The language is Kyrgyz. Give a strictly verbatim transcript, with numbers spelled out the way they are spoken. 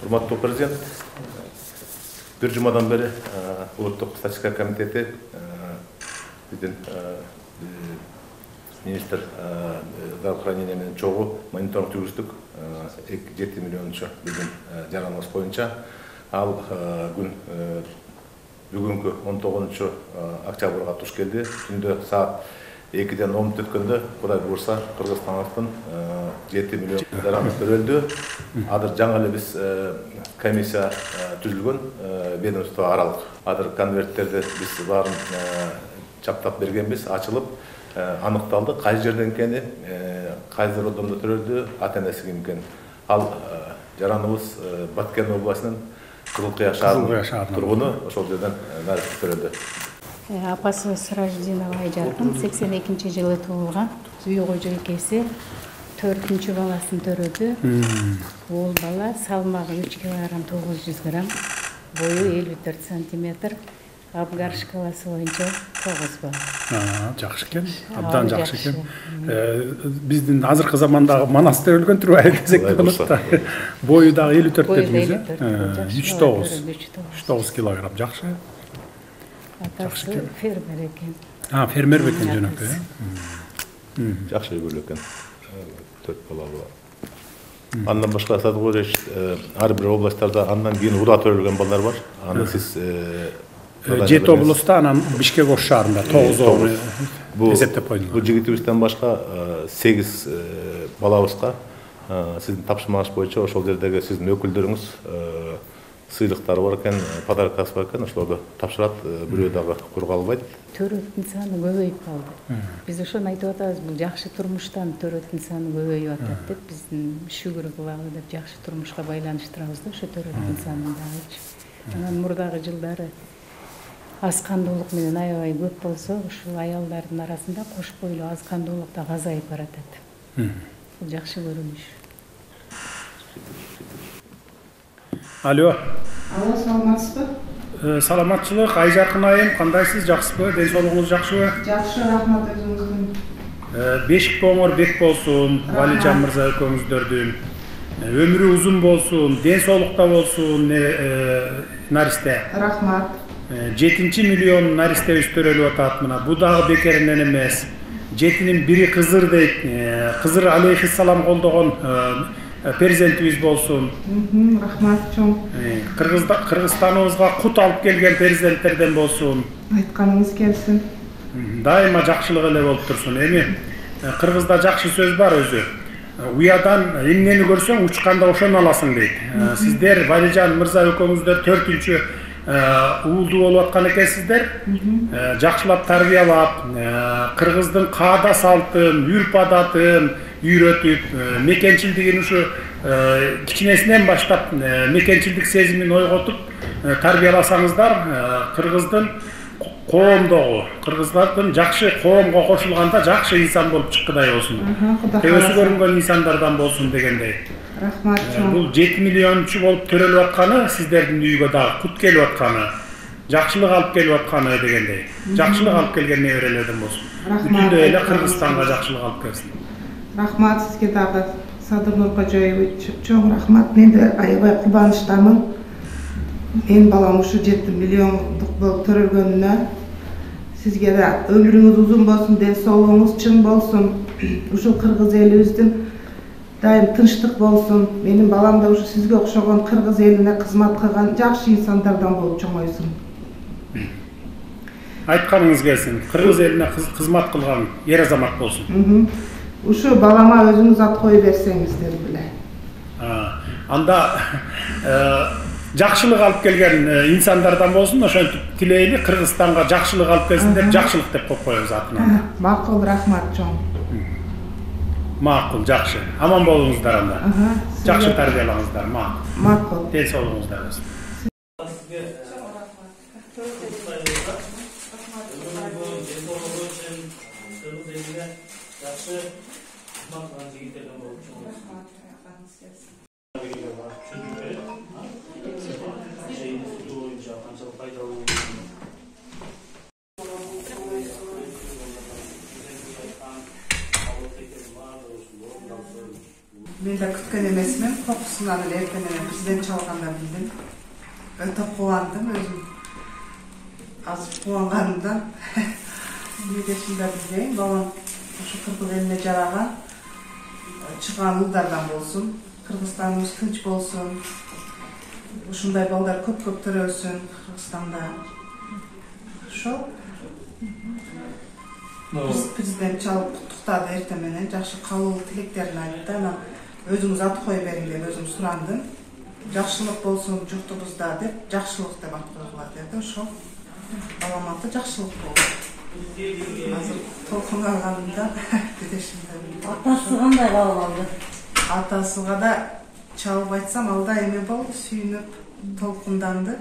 Урматтуу президент, бир жумадан бери улуттук статистика комитети биздин министр здравоохранения менен чогуу мониторинг жүргүздүк. жети миллиончу биздин жараныбыз боюнча ал күн бүгүнкү он тогузунчу октябрга туш келди. Түндө саат экиден он мүнөт өткөндө Кудай буйрса Кыргызстандын жети миллион жараныбыз төрөлдү. Азыр жаңы эле биз комиссия түзүлгөн, ведомство аралык. Азыр конверттерди биз баарын чаптап бергенбиз, ачылып аныкталды, кайсы жерден экени, кайсы роддомдо төрөлдү, ата-энеси ким экени. Ал жараныбыз Баткен областынын Кызылкыя шаарынын тургуну, ошол жерден нарист төрөлдү. Апасыбыз Сыраждинова Айжаркын сексен экинчи жылы туулган. Үй кожо экеси төртүнчү баласын төрөдү. Ол бала салмагы үч килограмм тогуз жүз грамм, бою элүү төрт сантиметр, Абгар шкаласы боюнча тогуз бала. Жакшы экен, абдан жакшы экен. Биздин азыркы замандагы Манас төрөлгөн турбайбы десек болот да. Бою дагы элүү төрт дедиңиз. үч тогуз. үч тогуз килограмм, жакшы. Атасы фермер экен. А, фермер бекен жөнөкөй. Жакшы үйлүү экен. төрт бала бар. Андан башка Садыгорич ар бир областтарда андан кийин ура төрөлгөн балдар бар. Аны сиз жети областта, анан Бишкек Ош шаарында тогуз эсептеп койдуңуз. Бул жигитибизден башка сегиз балабызга сиздин тапшырмаңыз боюнча ошол жердеги сиздин өкүлдөрүңүз сыйлыктары бар экен, подаркасы бар экен, ошолорду тапшырат, бирөө дагы кур калбайт. Төрөттүн саны көбөйүп калды. Биз ошону айтып атабыз, бул жакшы турмуштан төрөттүн саны көбөйүп атат деп, биздин шүгүр кылалы деп жакшы турмушка байланыштырабыз да, ошо төрөттүн санын дагычы. Анан мурдагы жылдары аз кандуулук менен аябай көп болсо, ушул аялдардын арасында кош бойлуу аз кандуулук да азайып баратат. Бул жакшы көрүнүш. Алло. Алло, саламатсызбы? Саламатчылык, Айжаркын айым, кандайсыз, жакшысызбы? Ден соолугуңуз жакшыбы? Жакшы, рахмат өзүңүздүн. Бешик коңор бек болсун, Валижан мырза экөөңүздөрдүн. Өмүрү узун болсун, ден соолукта болсун, наристе. Рахмат. жетинчи миллион наристебиз төрөлүп атат мына. Бу дагы бекеринен эмес. Жетинин бири кызыр дейт. Кызыр алейхиссалам колдогон перзентибиз болсун. Рахмат чоң. Кыргызстаныбызга кут алып келген перзенттерден болсун. Айтканыңыз келсин. Дайыма жакшылык эле болуп турсун. Эми кыргызда жакшы сөз бар өзү. Уядан эмнени көрсөң учканда ошону аласың дейт. Сиздер Валижан мырза экөөңүздөр төртүнчү уулду болуп аткан экенсиздер. Жакшылап тарбиялап, кыргыздын каада салтын, үрп адатын үйрөтүп, мекенчилдигин ушу кичинесинен баштап мекенчилдик сезимин ойготуп тарбияласаңыздар, кыргыздын коомдогу, кыргыздардын жакшы коомго кошулганда жакшы инсан болуп чыккыдай болсун. Төбөсү көрүнгөн инсандардан болсун дегендей. Рахмат чоң. Бул жети миллиончу болуп төрөлүп атканы, сиздердин үйгө дагы кут келип атканы, жакшылык алып келип атканы дегендей. Жакшылык алып келген неберелерден болсун. Бүтүндөй эле Кыргызстанга жакшылык алып келсин. Рахмат сизге дагы, Садырнур Кожоевич, чоң рахмат. Мен да аябай кубанычтамын. Мен балам ушу жети миллиондук болуп төрөлгөнүнө. Сизге да өмүрүңүз узун болсун, ден соолугуңуз чың болсун. Ушул кыргыз элибиздин дайым тынчтык болсун. Менин балам да ушу сизге окшогон кыргыз элине кызмат кылган жакшы инсандардан болуп чоңойсун. Айтканыңыз келсин, кыргыз элине кызмат кылган ер азамат болсун. Ушу балама өзүңүз ат коюп берсеңиздер беле. Анда жакшылык алып келген инсандардан болсун, ошентип тилейли, Кыргызстанга жакшылык алып келсин деп жакшылык деп коюп коебуз атынан. Макул, рахмат чоң. Макул, жакшы. Аман болуңуздар анда. Жакшы тарбиялаңыздар, макул. Макул. Ден соолугуңуздар болсун. Мен да күткөн эмесмин. Кокусунан эле эртең менен президент чалганда билдим. Өтө кубандым өзүм. Азыр кубанганымдан эмне да билбейм. Балам ушу кыргыз элине жараган чыган улдардан болсун. Кыргызстаныбыз тынч болсун. Ушундай балдар көп-көп төрөсүн Кыргызстанда. Ошол президент чалып куттуктады эртең менен, жакшы кабыл тилектерин айтты. Анан өзүңүз ат кое бериң деп өзүм сурандым. Жакшылык болсун журтубузда деп, жакшылык деп ат койгула деди. Ошол балам аты жакшылык болду. Азыр толкун алганымда дедешимде. Атасы кандай кабыл алды? Атасыга да чалып айтсам, ал да эме болду, сүйүнүп толкунданды.